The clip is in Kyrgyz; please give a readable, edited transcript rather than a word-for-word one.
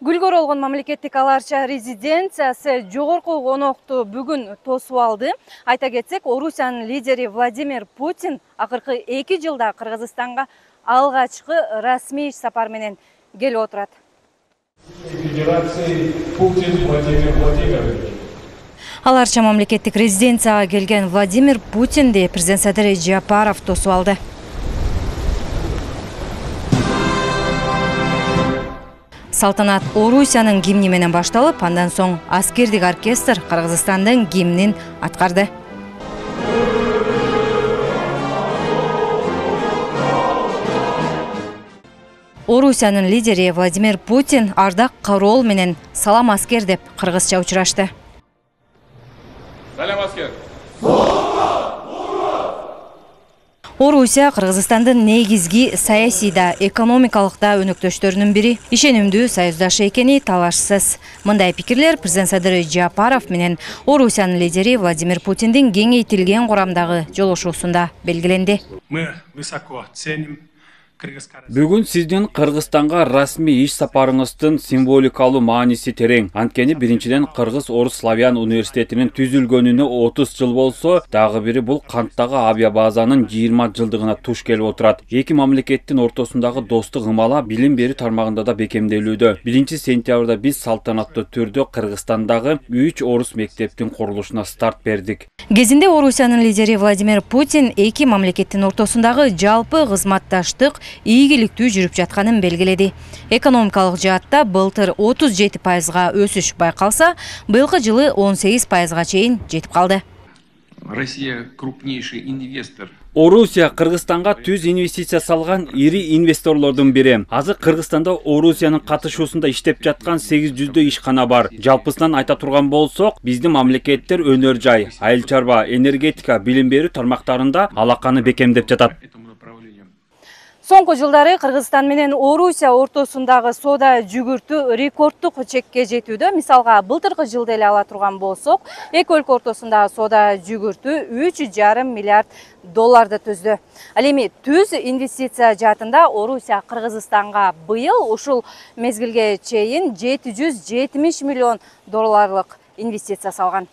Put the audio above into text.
Гүлгөр болгон мамлекеттик аларча резиденциясы жогорку конокту бүгүн тосуп алды. Айта кетсек, Орусиянын лидери Владимир Путин акыркы 2 жылда Кыргызстанга алгачкы расмий иш сапар менен келип отурат. Федерации Путин Владимир Владимирович. Аларча мамлекеттик резиденцияга келген Владимир Путинди президент Садыр Жапаров тосуп алды. Салтанат Орусиянын гимни менен башталып, андан соң аскердик оркестр Кыргызстандын гимнин аткарды. Орусиянын лидери Владимир Путин ардак кароол менен салам аскер деп кыргызча учурашты. Салам аскер. Орусия Кыргызстандын негизги саясий да экономикалык да өнөктөштөрүнүн бири, ишенимдүү союздашы экени талашсыз. Мындай пикирлер президент Садыр Жапаров менен Орусиянын лидери Владимир Путиндин кеңейтилген курамдагы жолугушуусунда белгиленди. Мы высоко ценим. Бүгүн сиздин Кыргызстанга расмий иш сапарыңыздын символикалуу мааниси терең. Анткени биринчиден Кыргыз-Орус Славян университетинин түзүлгөнүнө 30 жыл болсо, дагы бири бул канттагы авиабазанын 20 жылдыгына туш келип отурат. Эки мамлекеттин ортосундагы достук ымала билим берүү тармагында да бекемделүүдө. 1-сентябрда биз салтанаттуу түрдө Кыргызстандагы 3 орус мектептин курулушуна старт бердик. Кезинде Орусиянын лидери Владимир Путин эки мамлекеттин ортосундагы жалпы кызматташтык ийгиликтүү жүрүп жатканын белгиледи. Экономикалык жаатта былтыр 37%га өсүш байкалса, быйылкы жылы 18%га чейин жетип калды. Россия крупнейший инвестор. Орусия Кыргызстанга түз инвестиция салган ири инвесторлордун бири. Азыр Кыргызстанда Орусиянын катышуусунда иштеп жаткан 800 ишкана бар. Жалпысынан айта турган болсок, биздин мамлекеттер өнөр жай, айыл чарба, энергетика, билим берүү тармактарында алаканы бекемдеп жатат. Соңку жылдары Кыргызстан менен Орусия ортосундагы соода жүгүртүү рекорддук чекке жетүүдө. Мисалга, былтыркы жылда эле ала турган болсок, эки өлкө ортосундагы соода жүгүртүү 3,5 миллиард долларды түздү. Ал эми түз инвестиция жаатында Орусия Кыргызстанга быйыл ушул мезгилге чейин 770 миллион долларлык инвестиция салган.